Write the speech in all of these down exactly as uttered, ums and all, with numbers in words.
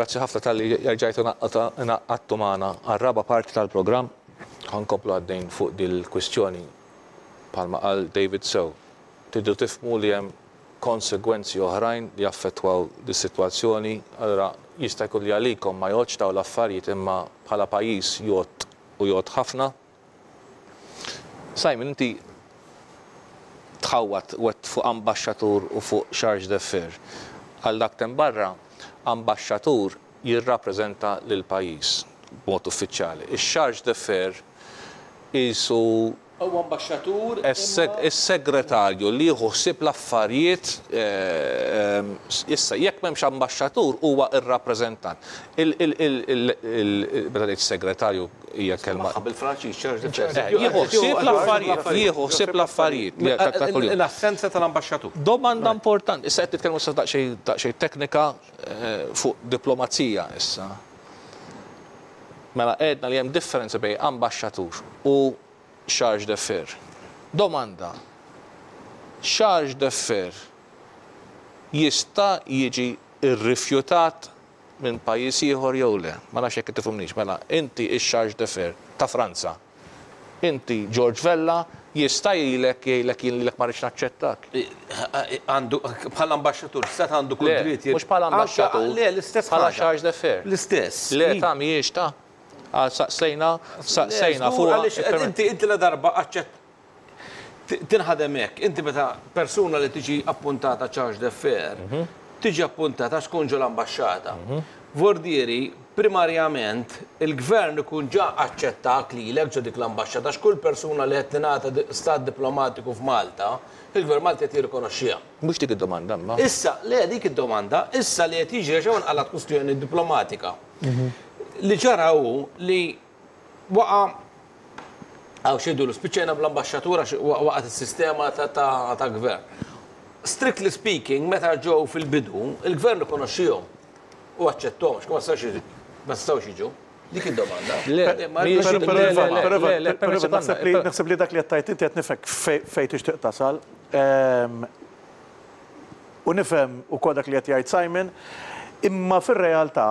Grazzi ħafna talli erġajtu ngħaqadtu magħna għar-raba' parti tal-programm. Ħa nkomplu għaddejn fuq dil-kwistjoni bħalma qal David sew. Tridu tifhmu li hemm konsegwenzi oħrajn li jaffettwaw dis-sitwazzjoni. Allora jista' jkun li għalikom ma jgħoddx dawn l-affarijiet, imma bħala pajjiż jgħodd u jgħodd ħafna. Simon, inti tħawat wet fuq ambaxxatur u fuq chargé d'affaires. Għal dak t'hemm barra, ambaxxatur jirrappreżenta lil pajjiż b'mod uffiċjali. Ix-chargé d'affaires qisu Huwa ambaxxatur. Is-segretarju li jieħu ħsieb l-affarijiet. eh, issa jekk m'hemmx ambaxxatur, huwa ir-rappreżentant. Meta ngħid segretarju hija kelma. Bil-Franċiż chargé. Eh, jieħu ħsieb l-affarijiet, jieħu ħsieb l-affarijiet ta' ta' kuljum. L-assenza tal-ambaxxatur. Domanda importanti, issa qed nitkellmu issa daqsxejn daqsxejn teknika eh, fuq diplomazija issa. Mela għedna li hemm differenza bejn ambaxxatur u chargé d'affaires. Domanda, chargé d'affaires jista' jiġi irrifjutat minn pajjiż ieħor jew le? Ma nafx jekk tifhimnix. Mela inti ix-chargé d'affaires ta' Franza. Inti George Vella jista' jgħidlek jgħidlek jien lilek ma rridx naċċettak? Għandu, bħala ambaxxatur, stat għandu kull Le, dritt. mhux bħala ambaxxatur. Le, l-istess Bħala ħaġa. chargé d'affaires. L-istess. Le, ta' mhijiex ta' għal saqsejna, saqsejna Le, fuq. Għaliex inti inti la darba aċċett tinħadem hekk, inti meta persuna li tiġi appuntata chargé d'affaires, tiġi appuntata tkun ġo l-ambaxxata. Vordieri, primarjament, il-gvern ikun ġa aċċettak lilek ġo dik l-ambaxxata, x'kull persuna li qed tingħata di- stat diplomatiku f'Malta, il-gvern Malti qed jirrikonoxxiha. Mhux dik id-domanda, ma. Issa, le, dik id-domanda, issa li qed jiġri xew nqalat kwistjoni diplomatika. Li ġara hu li waqa' għaw xedu l spiċċajna bl-ambaxxatura għax waqgħet is-sistema ta' ta' ta' gvern. Strictly speaking, meta ġew fil-bidu, il-gvern ikonoxxihom u aċċettom, x'ma stawx ma stawx jiġu. Dik id-domanda. Le, Ma- mhijiex- ma- le, Però le, Ivan, le, però le, le, Ivan, però Ivan, naħseb li per- naħseb li dak li qed tgħid inti qed nifhek fej fej tixtieq tasal. Ehm, U nifhem ukoll dak li qed jgħid Simon, imma fir-realtà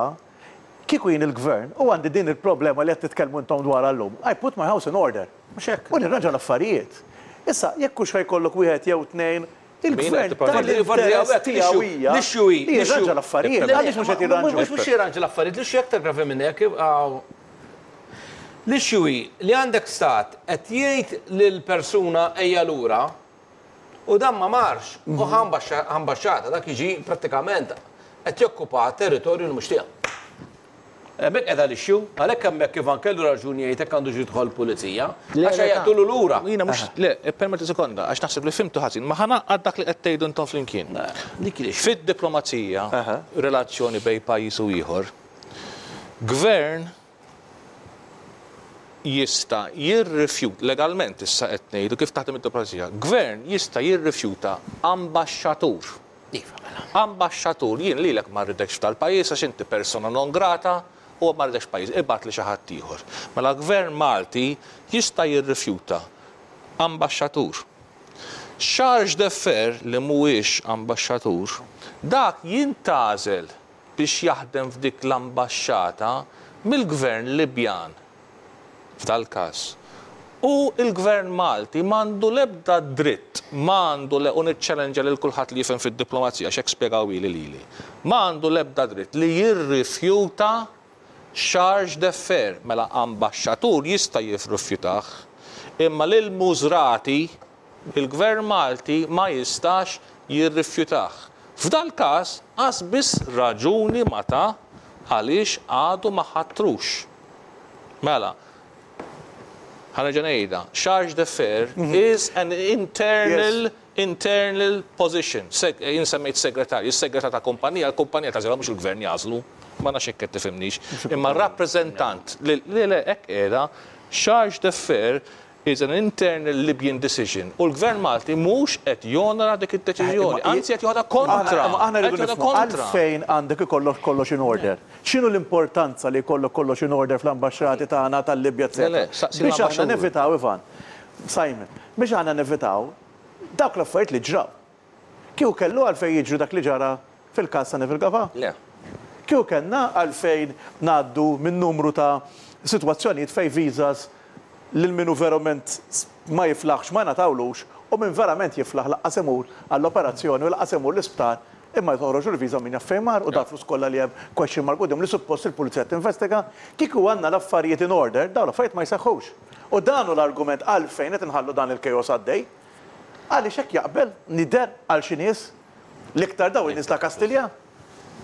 kieku jien il-gvern u għandi din il-problema li qed titkellmu intom dwar llum, I put my house in order. Mhux hekk. U nirranġa l-affarijiet. Issa, jekk hux ħa jkollok wieħed jew tnejn, il-gvern qed tipparla? tal-interess tiegħu hija L-issue hi- li jirranġa l-affarijiet. Għaliex mhux qed jirranġu? Mhux mhux jirranġa l-affarijiet, l-issue aktar gravi minn hekk. għaw. L-issue hi li għandek stat qed jgħid lil persuna ejja lura u dan ma marx u ħa ambaxxata dak jiġi prattikament qed jokkupa territorju li mhux tiegħu. Hemmhekk qiegħda l-issue, għalhekk hemmhekk Ivan kellu raġuni jgħid hekk għandu jidħol pulizija, għax jaqtulu lura. Jiena mhux, le, permetti sekonda, għax naħseb li fhimtu ħażin, ma ħa ngħaqqad dak li qed tgħidu intom flimkien. Dik l-issue. Fid-diplomazija, relazzjoni bejn pajjiż u ieħor, gvern jista' jirrifjut legalment, issa qed ngħidu kif taħdem id-diplomazija, gvern jista' jirrifjuta ambaxxatur. Iva, mela. Ambaxxatur, jien lilek ma rridekx tal-pajjiż għax inti persona non grata u ma rridekx pajjiż, ibgħat li xi ħadd ieħor. Mela gvern Malti jista' jirrifjuta ambaxxatur. Chargé d'affaires li mhuwiex ambaxxatur, dak jintgħażel biex jaħdem f'dik l-ambaxxata mill-gvern Libjan f'dal-każ. U il-gvern Malti m'għandu l-ebda dritt, m'għandu le, u niċċellenġa lil kulħadd li jifhem fid-diplomazija, x'hekk spjegaw ili lili. M'għandu l-ebda dritt li jirrifjuta chargé d'affaires, mela ambaxxatur jista' jirrifjutah, imma lil Musrati il-gvern Malti ma jistax jirrifjutah. F'dal każ qas biss raġuni ma ta għaliex għadu ma ħatrux. Mela, ħa nerġa' ngħidha, chargé d'affaires is an internal internal position. Seg, jien semmejt segretarju, is-segretar ta' kumpanija, l-kumpanija tagħżilha, mhux il-gvern jagħżlu, ma nafx hekk qed tifhimnix. Imma rappreżentant li li le hekk qiegħda, chargé d'affaires is an internal Libyan decision. U l-gvern Malti mhux qed jonora dik id-deċiżjoni, anzi qed joħodha kontra. Aħna aħna rridu Qed joħodha nifhmu kontra. għalfejn għandek ikollok kollox in order. X'inhu l-importanza li jkollok kollox in order fl-ambaxxati tagħna tal-Libja, Le, le, eċetera? saqsi Biex aħna l-ambaxxatur. nevitaw, Ivan, Simon, biex aħna nevitaw dawk l-affarijiet li ġraw. Kieku kellu għalfejn jiġru dak li ġara fil-każ ta' Neville Gafà? Le. Kieku kellna għalfejn ngħaddu minn numru ta' sitwazzjonijiet fejn visas lil min hu verament ma jiflaħx ma ngħatawlux u min verament jiflaħ lanqas imur għall-operazzjoni u lanqas imur l-isptar imma jtoħroġ il-viża min jaf fejn mar u dal-flus kollha li hemm question mark quddiem li suppost il-pulizija tinvestiga, kieku għandna l-affarijiet in order, dawn l-affarijiet ma jseħħux. U dan hu l-argument għalfejn qed inħallu dan il-chaos għaddej. Għaliex hekk jaqbel nider għal xi nies l-iktar daw in-nies ta' Kastilja.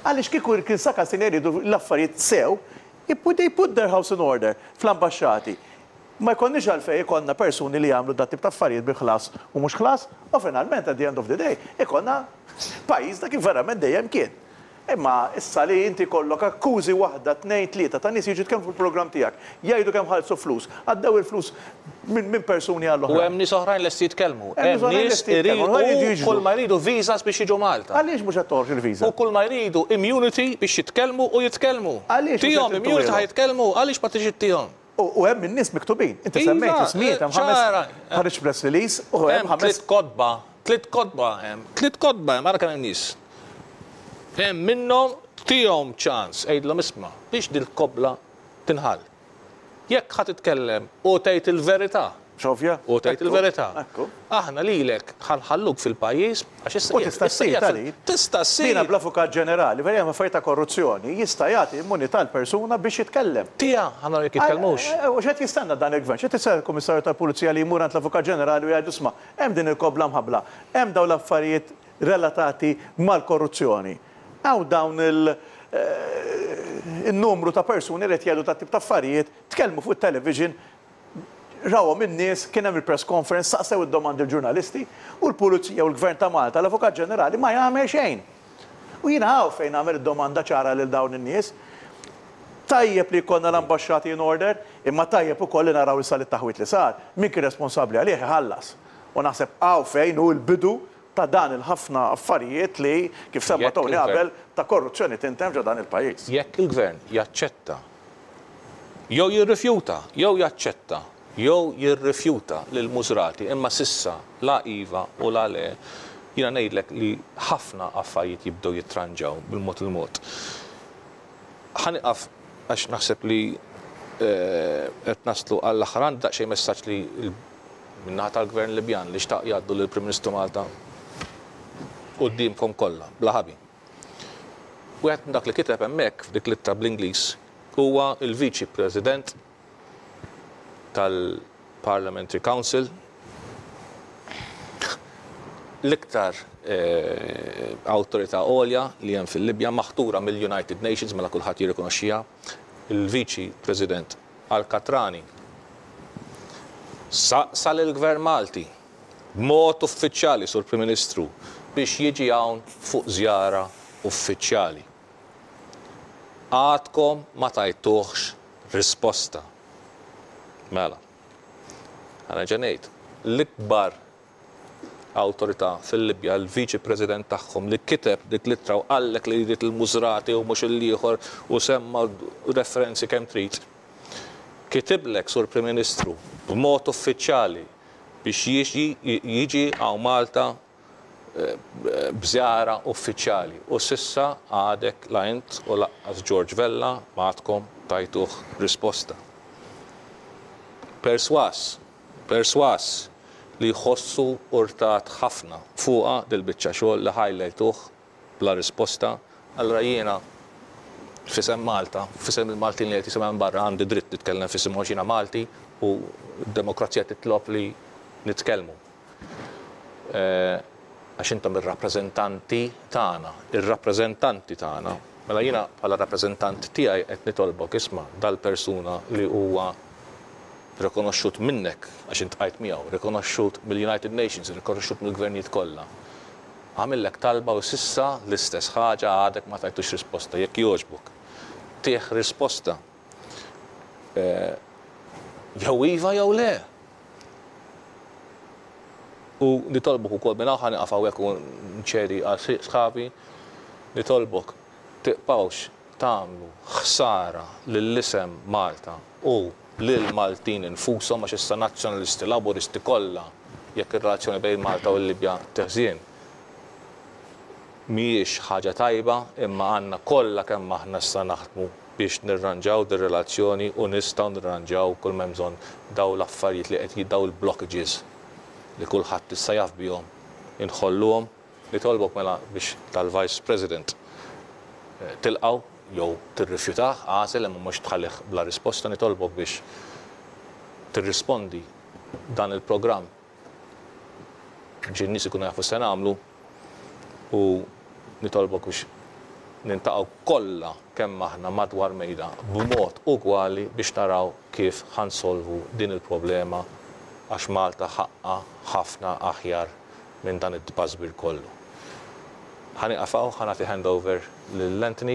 Għaliex kieku kien sa Kastilja jridu l-affarijiet sew, they put their house in order fl-ambasċati. Ma jkollniex għalfejn ikollna persuni li jagħmlu dat tip ta' affarijiet bi ħlas u mhux ħlas, u finalment at the end of the day ikollna pajjiż dak kif verament dejjem kien. Imma issa li inti kollok akkużi waħda, tnejn, tlieta ta' nies jiġu jitkellmu fil-programm tiegħek, jgħidu kemm ħallsu flus, għaddew il-flus minn min persuni għall U hemm nies oħrajn lesti jitkellmu. Hemm nies Hemm oħrajn nies lesti jitkellmu, oħrajn jridu iridu jiġu. kull ma jridu visas biex jiġu Malta. Għaliex mhux qed toħroġ il-viża? U kull ma jridu immunity biex jitkellmu u jitkellmu. Għaliex mhux Tihom qed immunity intuhom? ħa jitkellmu, għaliex ma tiġi tihom? U u hemm in-nies miktubin. Inti Iva, semmejt ismijiet hemm ħames ċara. ħareġ press release u hemm Hemm ħames tliet kotba, tliet kotba hemm, tliet kotba hemm, ara kemm hemm nies. Hemm minnhom tihom ċans, għidilhom isma' biex dil-kobla tinħall. Jekk ħa titkellem u tgħid il-verità, Xofja? u tgħid il-verità. Ekku. Aħna lilek ħa nħalluk fil-pajjiż għax issa U tista' issa ssir qiegħed tali. Tista' ssir. Dina bl-avukat ġenerali, vera hemm affarijiet ta' korruzzjoni, jista' jagħti immunità l-persuna biex jitkellem. Tija, ħa naraw jekk jitkellmux. Eh, U x'qed jistenna dan il-gvern? X'qed jistenna l-Kummissarju tal-Pulizija li jmur għand l-Avukat Ġenerali u jgħidu isma' hemm din il-kobla mħabbla, hemm dawn l-affarijiet relatati mal-korruzzjoni. Hawn dawn il- eh, il-numru ta' persuni li qed jgħidu ta' tip ta' affarijiet, tkellmu fuq it-television, rawhom in-nies, kien hemm il-press conference, saqsew id-domandi l-ġurnalisti u l-Pulizija u l-Gvern ta' Malta, l-Avukat Ġenerali ma jagħmel xejn. U jiena hawn fejn nagħmel id-domanda ċara lil dawn in-nies. Tajjeb li jkollna l-ambasċati in order, imma tajjeb ukoll li naraw issa li taħwit li sar, min kien responsabbli għalih iħallas. U naħseb hawn fejn hu l-bidu ta' dan il-ħafna affarijiet li kif semma Jekk Tony il-gvern- qabel ta' korruzzjoni tintem ġo dan il-pajjiż. Jekk il-gvern jaċċetta jew jirrifjuta, jew jaċċetta, jew jirrifjuta lil Musrati imma s'issa la iva u la le, jiena ngħidlek li ħafna affarijiet jibdew jitranġaw bil-mod il-mod. Ħa nieqaf għax naħseb li eh, qed naslu għall-aħħar għandi daqsxejn messaġġ li l- min-naħa tal-Gvern Libjan li xtaq jgħaddu lill-Prim Ministru Malta quddiemkom kollha, bla ħabi. Wieħed minn dak li kiteb hemmhekk f'dik l-ittra bl-Ingliż huwa il-Viċi President tal-Parliamentary Council l-iktar eh, awtorità għolja li hemm fil-Libja maħtura mill-United Nations mela kulħadd jirrikonoxxiha, il-Viċi President Al-Katrani saqsa lill-Gvern Malti b'mod uffiċjali sur Prim Ministru biex jiġi hawn fuq żjara uffiċjali. Għadkom ma tajtuħx risposta. Mela, ħa nerġa' ngħid, l-ikbar awtorità fil-Libja, l-Viċi President tagħhom li kiteb dik l-ittra u qallek li jrid il-Musrati u mhux il-ieħor u semma referenzi kemm trid. Kitiblek sur Prim Ministru b'mod uffiċjali biex jiġi jiġi hawn Malta eh, b'żjara uffiċjali u s'issa għadek la int u lanqas George Vella m'għadkom tajtuh risposta. Perswas, perswas li jħossu urtat ħafna fuqa dil-biċċa xogħol li ħallejtuh bla risposta, allura jiena f'isem Malta, f'isem il-Maltin li qed jisimgħu minn barra għandi dritt nitkellem f'isem għax jiena Malti u d-demokrazija titlob li nitkellmu. Eh, Għax intom ir-rappreżentanti tagħna, ir-rappreżentanti tagħna. Mela jiena bħala rappreżentant tiegħi qed nitolbok isma' dal-persuna li huwa rikonoxxut minnek għax iltqajt miegħu, rikonoxxut mill-United Nations, rikonoxxut mill-gvernijiet kollha. Għamillek talba u s'issa l-istess ħaġa għadek ma tajtux risposta, jekk jogħġbok. Tih risposta. Eh, Jew iva jew le. U nitolbok ukoll minn hawn ħa nieqaf hawnhekk u nċedi għal sħabi, nitolbok tibqgħux tagħmlu ħsara lill-isem Malta u lil Maltin infushom għax issa nazzjonalisti laburisti kollha jekk ir-relazzjoni bejn Malta u l-Libja teħżien. Mhijiex ħaġa tajba, imma għandna kollha kemm aħna issa naħdmu biex nirranġaw dir-relazzjoni u nistgħu nirranġaw kull m'hemm bżonn daw l-affarijiet li qed jiddaw il-blockages li kulħadd issa jaf bihom, inħolluhom. Nitolbok mela biex tal-Vice President tilqgħu jew tirrifjutah, għażel, imma mhux tħallih bla risposta. Nitolbok biex tirrispondi dan il-programm biex in-nies ikunu jafu se nagħmlu u nitolbok biex niltaqgħu kollha kemm aħna madwar mejda b'mod ugwali biex naraw kif ħa nsolvu din il-problema, għax Malta ħaqqa ħafna aħjar minn dan it-tbażbir kollu. Ħa nieqaf hawn, ħa nagħti handover lil Anthony.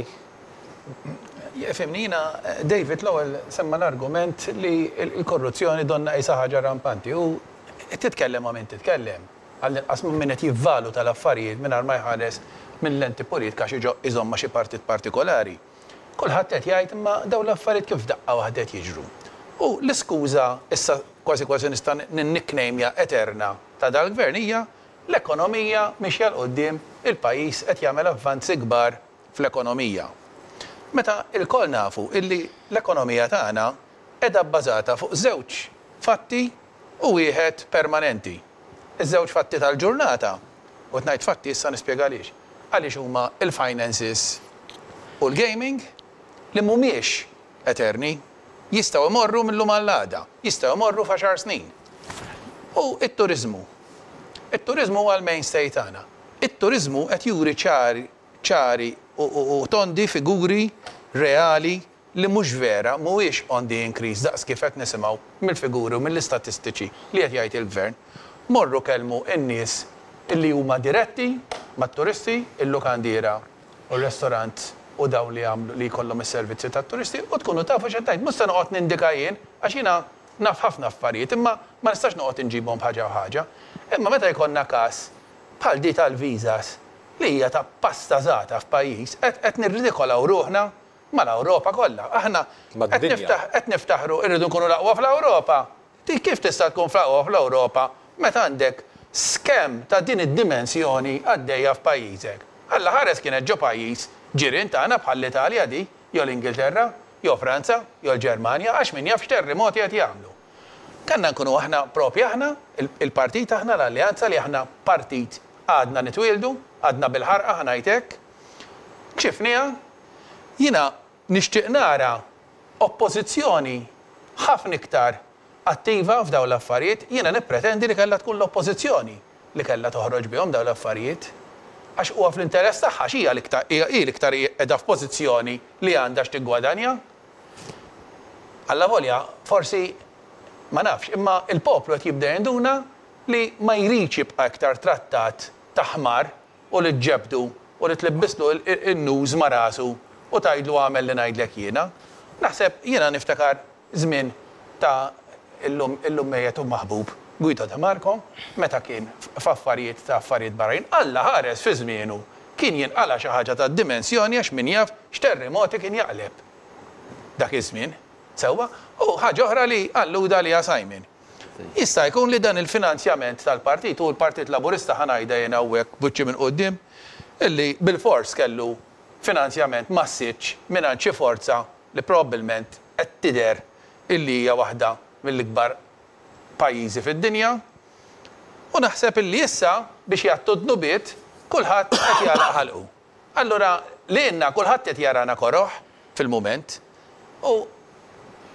Ifhimni, jiena, David l-ewwel semma l-argument li l-korruzzjoni donna qisha ħaġa rampanti u titkellem ma' min titkellem. Għall-inqas minn min qed jivvaluta l-affarijiet mingħajr ma jħares minn lenti politika xi iżomma xi partit partikolari. Kulħadd qed jgħid, imma dawn l-affarijiet kif daqqa waħda qed jiġru? U l-iskuża issa kważi kważi nista' ninnickname eterna ta' dal-gvern hija l-ekonomija mixja 'l quddiem, il-pajjiż qed jagħmel avvanzi kbar fl-ekonomija. Meta il-koll nafu illi l-ekonomija tagħna qiegħda bbażata fuq żewġ fatti u wieħed permanenti. Iż-żewġ fatti tal-ġurnata, u ngħid fatti, issa nispjega għaliex. Għaliex huma il-finances u l-gaming, li mhumiex eterni, jistgħu imorru mill-lum għall-għada, jistgħu imorru f'għaxar snin. U it-turizmu. It-turizmu huwa l-mainstay tagħna. It-turizmu qed juri ċari ċari u tondi figuri reali li mhux vera, mhuwiex on the increase daqs kif qed nisimgħu mill-figuri u mill-istatistiċi li qed jgħid il-gvern. Morru kellmu n-nies illi huma diretti mat-turisti, il-lukandiera u r-restorant u dawn li għamlu li jkollhom is-servizzi tat-turisti, u tkunu tafu x'qed ngħid. Mhux se noqgħod nindika jien, għax jiena naf ħafna affarijiet, imma ma nistax noqgħod inġibhom ħaġa u ħaġa. Imma meta jkollna każ bħal di tal-visas li hija ta' pastażata f'pajjiż, qed nirridikolaw ruħna mal-Ewropa kollha. Aħna qed niftaħru irridu nkunu l-aqwa fl-Ewropa. Ti kif tista' tkun fl-aqwa fl-Ewropa meta għandek scam ta' din id-dimensjoni għaddejja f'pajjiżek? Alla ħares kienet ġo pajjiż ġirien tagħna bħall-Italja di, jew l-Ingilterra, jew Franza, jew l-Ġermanja, għax min jaf x'terremoti qed jagħmlu. Kanna nkunu aħna propja aħna, il-partit aħna, l-Alleanza, li aħna partit għadna nitwildu, għadna bil-ħarqa, ħa ngħidlek. Kxifnieha, jiena nixtieq nara oppożizzjoni ħafna iktar attiva f'dawn l-affarijiet. Jiena nippretendi li kellha tkun l-oppożizzjoni li kellha toħroġ bihom dawn l-affarijiet. Għax huwa fl-interess tagħha, x'hija l-iktar hi l-iktar qiegħda f'pożizzjoni li għandha x'tiggwadanja. Alla volja, forsi ma nafx, imma il-poplu qed jibda jinduna li ma jridx jibqa' iktar trattat ta' ħmar u li ġġebdu u li tlibbislu in-nuż ma' rasu u tgħidlu għamel li ngħidlek jiena. Naħseb jiena niftakar żmien ta' illum illum mejjet u maħbub Guido De Marco, meta kien f'affarijiet ta' affarijiet barranin, Alla ħares fi żmienu kien jinqala xi ħaġa ta' dimensjoni, għax min jaf x'terremoti kien jaqleb dak iż-żmien. Sewwa, u ħaġa oħra li alluda li Simon. Jista' jkun li dan il-finanzjament tal-partit u l-Partit Laburista, ħa ngħidha jien hawnhekk buċċi minn quddiem, illi bil-fors kellu finanzjament massiċ minn xi forza li probabbilment qed tidher illi hija waħda mill-ikbar pajjiżi fid-dinja. U naħseb illi issa biex jgħattu dnubiet kulħadd qed jagħlaq ħalqu. Allura li għandna kulħadd qed jarana koroħ fil-mument u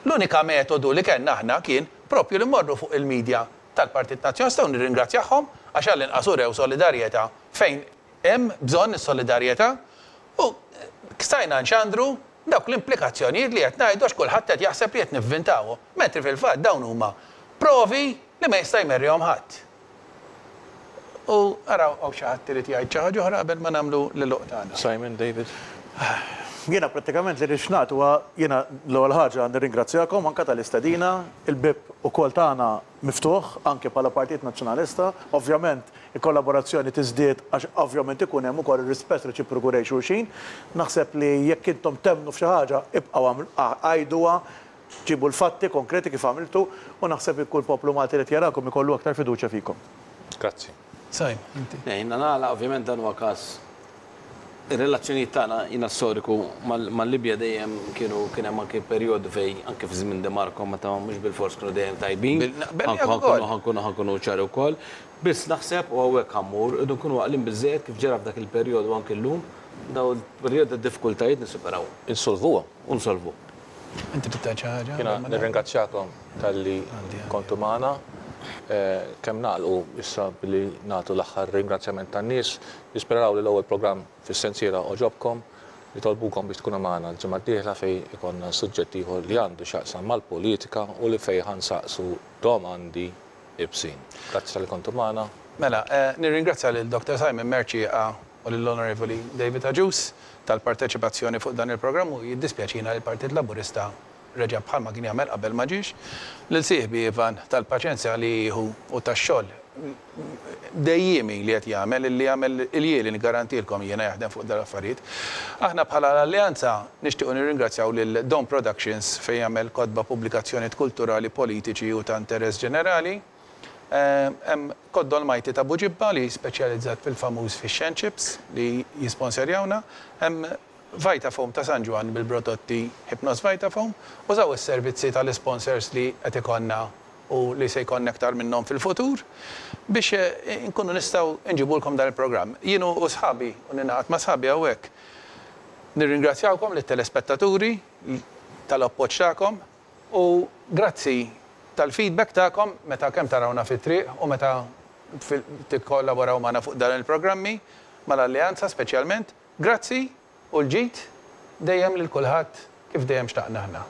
l-unika metodu li kellna aħna kien propju li mmorru fuq il-medja tal-Partit Nazzjonalista u nirringrazzjahom għax għall-inqas urew solidarjetà fejn hemm bżonn is-solidarjetà u stajna nxandru dawk l-implikazzjonijiet li qed ngħidu, għax kulħadd qed jaħseb li qed nivvintawhom, mentri fil-fatt dawn huma provi li ma jista' jmerrihom ħadd. U araw hawn xi ħadd irid jgħid xi ħaġa oħra qabel ma nagħmlu l-għeluq tagħna. Simon, David. Jiena prattikament li rixnat huwa, jiena l-ewwel ħaġa nirringrazzjakom anke tal-istedina, il-bib ukoll tagħna miftuħ anke bħala Partit Nazzjonalista. Ovvjament il-kollaborazzjoni tiżdied għax ovvjament ikun hemm ukoll ir-rispett reċiproku lejn xulxin. Naħseb li jekk intom temmnu f'xi ħaġa, ibqgħu għajduha, ġibu l-fatti konkreti kif għamiltu, u naħseb kull poplu Malti li jarakom ikollu aktar fiduċja fikom. Grazzi. Sajm, inti. Jiena nagħlaq, ovvjament dan huwa każ Ir-relazzjonijiet tagħna jiena storiku mal-Libja dejjem kienu, kien hemm anke perjodu fejn anke fi żmien De Marco meta mhux bilfors kienu dejjem tajbin. Ħa nkunu ħa nkunu ċari wkoll. Biss naħseb, u hawnhekk ħa mmur, irridu nkunu għaqlin biżżejjed kif ġara f'dak il-perjodu anke llum, daw il-perjodu ta' diffikultajiet nisuperaw. Insolvuha. U nsolvu. Inti trid xi ħaġa? Jiena nirringrazzjakom talli kontu magħna. Kemm nagħlqu issa billi nagħtu l-aħħar ringrazzjament tan-nies, nisperaw li l-ewwel programm fis-sensiela għoġobkom, nitolbukom biex tkunu magħna l-ġimgħa d-dieħla fejn ikollna suġġett ieħor li għandu x'jaqsam mal-politika u li fejn ħa nsaqsu domandi iebsin. Grazzi talli kontu magħna. Mela, nirringrazzja lil Doctor Simon Mercieca u lill-Onorevoli David Agius tal-parteċipazzjoni fuq dan il-programm u jiddispjaċina li l-Partit Laburista reġa' bħalma kien jagħmel qabel ma ġiex, lil sieħbi Ivan tal-paċenzja li jieħu u tax-xogħol dejjiemi li qed jagħmel, li jagħmel il-jieli nigarantilkom jiena jaħdem fuq dal affarijiet. Aħna bħala l-Alleanza nixtiequ nirringrazzjaw lil Don Productions fejn jagħmel kotba, pubblikazzjonijiet kulturali, politiċi u ta' interess ġenerali. Hemm Koddol Majti ta' Buġibba li speċjalizzat fil-famuż fish and chips li jisponsorjawna. Hemm Vitafoam ta' San Ġwann bil-prodotti Hypnos Vitafoam. Użaw is-servizzi tal-sponsors li qed ikollna u li se jkollna aktar minnhom fil-futur biex nkunu nistgħu nġibulkom dan il-programm. Jien u sħabi u ningħaqad ma' sħabi hawnhekk nirringrazzjawkom lit-telespettaturi tal-appoġġ tagħkom u grazzi tal-feedback tagħkom meta kemm tarawna fit-triq u meta tikkollaboraw magħna fuq dan il-programmi mal-Alleanza speċjalment. Grazzi u l-ġid dejjem lil kulħadd kif dejjem xtaqna aħna.